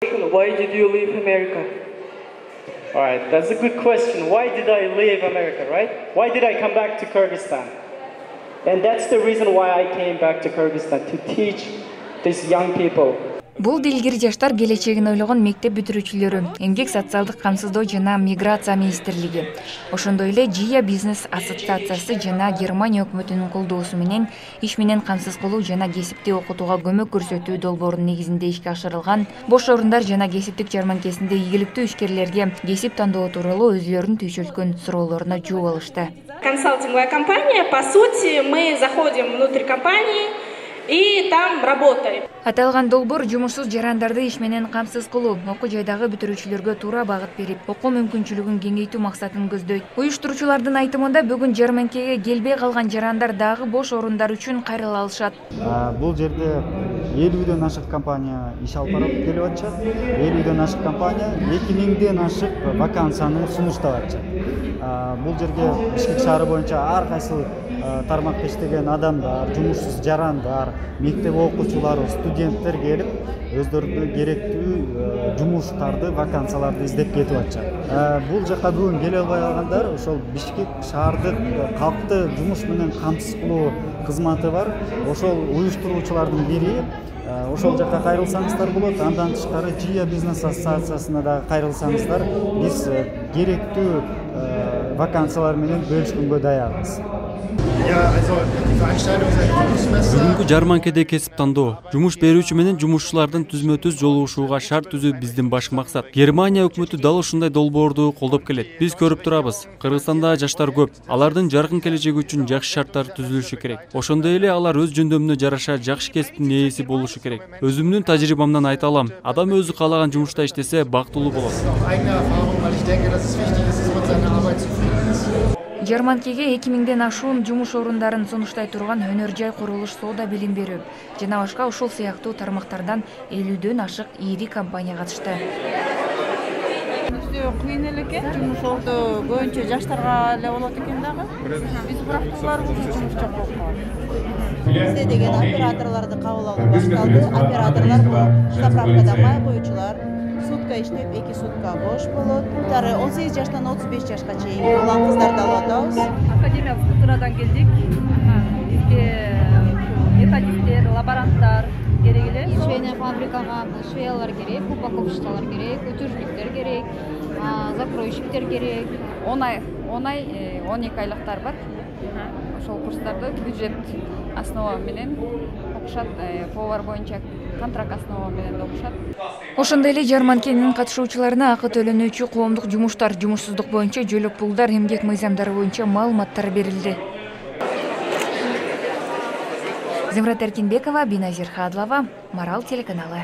Why did you leave America? All right, that's a good question. Why did I leave America, right? Why did I come back to Kyrgyzstan? And that's the reason why I came back to Kyrgyzstan, to teach these young people. Бул дилгир жаштар келечегин ойлогон мектеп бүтүрүүчүлөрү, эмгек социалдык камсыздоо жана миграция министрлиги, ошондой эле Жия бизнес ассоциациясы жана Германия өкмөтүнүн колдоосу менен иш менен камсыз кылуу жана кесипти окутууга көмөк көрсөтүү долбоорунун негизинде ишке ашырылган бош орундар жана кесиптик жарманкесинде ийгиликтүү ишкерлерге кесип тандоо тууралуу өзүлөрүнүн түйшөлткөн суроолоруна жооп алышты. Консалтинговая компания, по сути, мы заходим внутрь компании и там работаем. Аталган долбоор жумушсуз жарандарды иш менен камсыз кылуу, окуу жайдагы бүтүрүүчүлөргө туура багыт берип, окуу мүмкүнчүлүгүн кеңейтүү максатын көздөйт. Уюштуруучулардын айтымында бүгүн жарманкеге келбей калган жарандар дагы бош орундар үчүн кайрыла алышат. Бул жерде 50ден ашык компания иш алып барып келип атышат. 50ден ашык компания 2000ден ашык вакансияны сунуштап атышат. Бул жерге Бишкек шаары боюнча ар кайсы тармакта иштеген адамдар, жумушсуз жарандар, мектеп окуучулары, студенттер келип, өздөрүнө керектүү жумуштарды, вакансияларды издеп кетип атышат. Бул жака бүгүн келе албай калгандар ошол Бишкек шаардык калкты жумуш менен камсыз кылуу кызматы бар. Ошол уюштуруучулардын бири. Ошол жака кайрылсаңыздар болот. Андан тышкары Жия бизнес ассоциациясына да кайрылсаңыздар, биз керектүү вакансиялар менен бөлүшкөнгө даярбыз. Бүгүнкү жарманкеде кесип тандоо, жумуш берүүчү менен жумушчулардын түзмө-түз жолугушууга шарт түзүү биздин баш максат. Германия өкмөтү дал ушундай долбоорду колдоп келет. Биз көрүп турабыз. Кыргызстанда жаштар көп. Алардын жаркын келечеги үчүн жакшы шарттар түзүлүшү керек. Ошондой эле алар өз жөндөмүнө жараша жакшы кесиптин ээси болушу керек. Өзүмдүн тажрыйбамдан айта алам. Адам өзү каалаган жумушта иштесе бактылуу болот. Жарманкеге 2000ден ашуун жумуш орундарын сунуштай турган өнөр жай, курулуш, соода, билим берүү жана башка ушул сыяктуу тармактардан 50ден ашык ири компания катышты. Кыйын эле экен, жумуш орду көбүнчө жаштарга эле болот экен дагы. Биз бирактууларыбыз жумуш жок болуп калат. Бизде деген операторлорду кабыл алуу башталды. Операторлор бул заправкада май коюучулар. Сутка иштеп, 2 сутка бош болот. 18 жаштан 35 жашка чейин улан кыздарды алып атабыз. Академиялык структурадан келдик. Бизге методисттер, лаборанттар керек эле. Швейная фабрикага швеялар керек, упаковщиктер керек, өтүрүштүктөр керек, закройщиктер керек. 12 айлыктар бар. Ошол курстарды бюджет основа менен окушат, повар боюнча контракт основа менен окушат. Ошондой эле жарманкенин катышуучуларына акы төлөнүүчү коомдук жумуштар, жумушсуздук боюнча жөлөк пулдар, эмгек мыйзамдары боюнча маалыматтар берилди. Земрат Эркинбекова, Биназир Хадлова, Марал телеканалы.